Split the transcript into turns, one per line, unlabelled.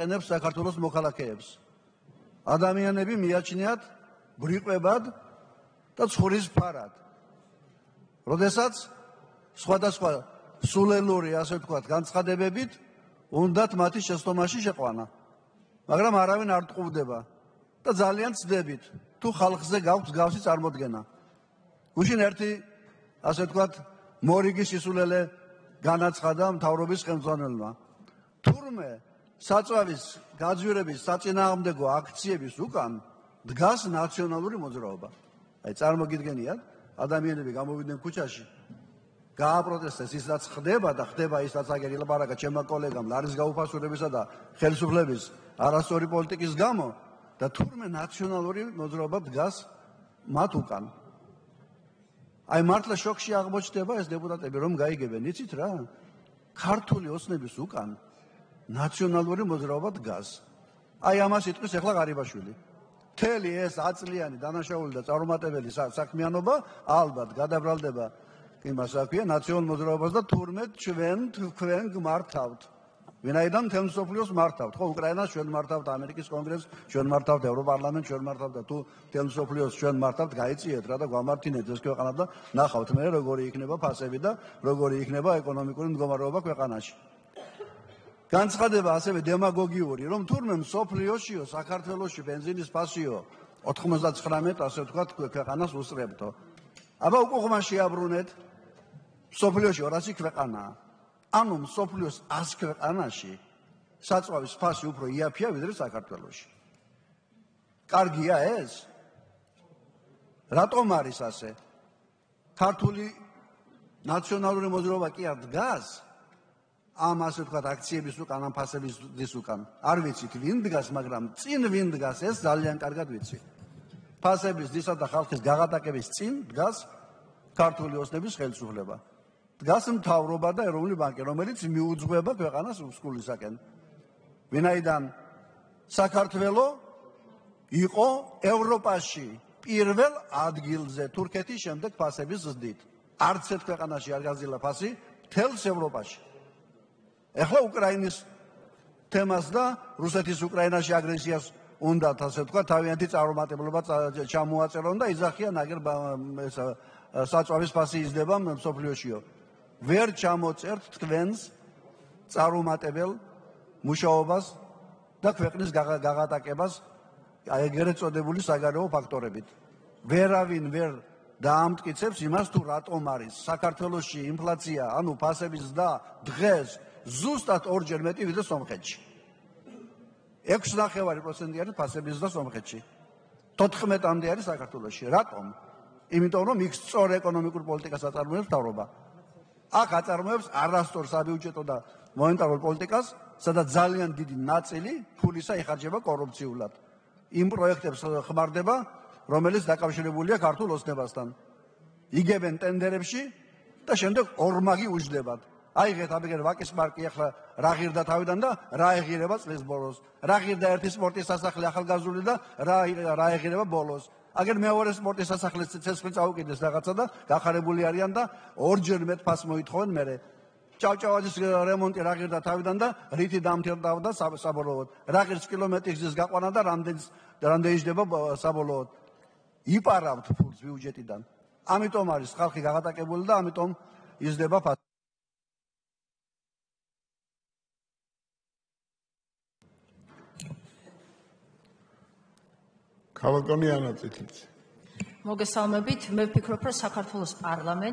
აყენებს საქართველოს მოქალაქეებს. ადამიანები მიაჩნიათ ბრიყვებად და ცხურის ფარად. როდესაც სხვადასხვა სულელური, ასე ვთქვათ, განცხადებებით უნდათ მათი შეცდომაში შეყვანა. მაგრამ არავინ არ ტყუდება და ძალიან ცდებით, თუ ხალხზე გაქვს მსგავსი წარმოდგენა. გუშინ ერთი, ასე ვთქვათ, მორიგი სისულელე განაცხადა მთავრობის ხელმძღვანელმა. თურმე საწვავის გაძვირების საწინააღმდეგო აქციების უკან დგას ნაციონალური მოძრაობა. აი წარმოგიდგენიათ, ადამიანები გამოვიდნენ ქუჩაში, გააპროტესტეს ის რაც ხდება და ხდება ის რაც აგერ ილაპარაკა ჩემმა კოლეგამ ლარის გაუფასურებისა და ხელისუფლების არასწორი პოლიტიკის გამო და თურმე ნაციონალური მოძრაობა დგას მათ უკან. აი მართლა შოკში აღმოჩნდება ეს დეპუტატები რომ გაიგებენ, იცით რა? ქართული ოცნების უკან ნაციონალური მოძრაობა დგას. აი ამას იტყვის ახლა ღარიბაშვილი. მთელი ეს აწლიანი დანაშაული და წარუმატებელი საქმიანობა ალბათ გადაბრალდება იმას აქვია ნაციონალურ მოძრაობას და თურმე თქვენ გმართავთ. ვინაიდან მთელ მსოფლიოს მართავთ, ხო, უკრაინას ჩვენ მართავთ, ამერიკის კონგრესს ჩვენ მართავთ, ევროპარლამენტს ჩვენ მართავთ და თუ მთელ მსოფლიოს ჩვენ მართავთ, გაიწიეთ რა და გვამართინეთ ეს ქვეყანა და ნახავთ მე როგორი იქნება ფასები და როგორი იქნება ეკონომიკური მდგომარეობა ქვეყანაში. განცხადება ასევე დემაგოგიური, რომ თურმე მსოფლიოშიო, საქართველოში ბენზინის ფასიო 99, ასე ვთქვათ, ქვეყანას უსწრებთო. აბა უკვე ხმა შეაბრუნეთ, მსოფლიოში 200 ქვეყანაა. ანუ მსოფლიოს 100 ქვეყანაში საწვავის ფასი უფრო იაფია ვიდრე საქართველოში. კარგია ეს? რატომ არის ასე? ქართული ნაციონალური მოძრაობა კი არ დგას ამ ასე ვთქვათ აქციების უკან, ამ ფასების უკან. არ ვიცით ვინ დგას, მაგრამ წინ ვინ დგას ეს ძალიან კარგად ვიცი. ფასების დისა და ხალხის გაღატაკების წინ დგას ქართული ოცნების ხელისუფლება. დგას მთავრობა და ეროვნული ბანკი, რომელიც მიუძღვება ქვეყანას უსკულისაკენ. ვინაიდან საქართველო იყო ევროპაში პირველ ადგილზე თურქეთის შემდეგ ფასების ზრდით. არც ერთ ქვეყანაში არ გაზრდილა ფასი მთელს ევროპაში. ეხლა უკრაინის თემას და რუსეთის უკრაინაში აგრესიას უნდათ, ასე ვთქვათ, თავიანთი წარუმატებლობა ჩამოაწერონ და იძახიან აგერ საწვავის ფასი იზრდება მსოფლიოშიო. ვერ ჩამოწერთ თქვენს წარუმატებელ მუშაობას და ქვეყნის გაღატაკებას ეგრეთ წოდებული საგარეო ფაქტორებით. ვერავინ ვერ დაამტკიცებს იმას, თუ რატომ არის საქართველოში ინფლაცია, ანუ ფასების ზრდა დღეს ზუსტად ორჯერ მეტი ვიდრე სომხეთში. 6.9% არის ფასების ზრდა სომხეთში. 14-მდე არის საქართველოში. რატომ? იმიტომ რომ იქ სწორ ეკონომიკურ პოლიტიკას აწარმოებს მთავრობა. აქ აწარმოებს არასწორ საბიუჯეტო და მონეტარულ პოლიტიკას, სადაც ძალიან დიდი ნაწილი ფულისა იხარჯება კორუფციულად. იმ პროექტებს ხმარდება, რომელიც დაკავშირებულია ქართულ ოცნებასთან. იგებენ ტენდერებში და შემდეგ ორმაგი უჯდებათ. აიღეთ ამგერ ვაკის პარკი ახლა რა ღირდა თავიდან და რა ეღირება წლის ბოლოს. რა ღირდა ერთი სპორტის სასახლე ახალგაზრდული და რა ეღირება ბოლოს. აგერ მეორე სპორტის სასახლეს ცეცხლი წაუკიდეს რაღაცა და გახარებული არიან და ორჯერ მეტ ფასს მოითხოვენ მერე. ჭავჭავაძის რემონტი რა ღირდა თავიდან და რითი დამთავრდა საბოლოოდ. რა ღირს კილომეტრის გზის გაყვანა და რამდენი ჯდება საბოლოოდ. იპარავთ ფულს ბიუჯეტიდან. ამიტომ არის ხალხი გაღატაკებული და ამიტომ იზრდება ფასი.
ქალბატონი ანა წითლიცი.
მოგესალმებით, მე ვფიქრობ, რომ საქართველოს პარლამენტს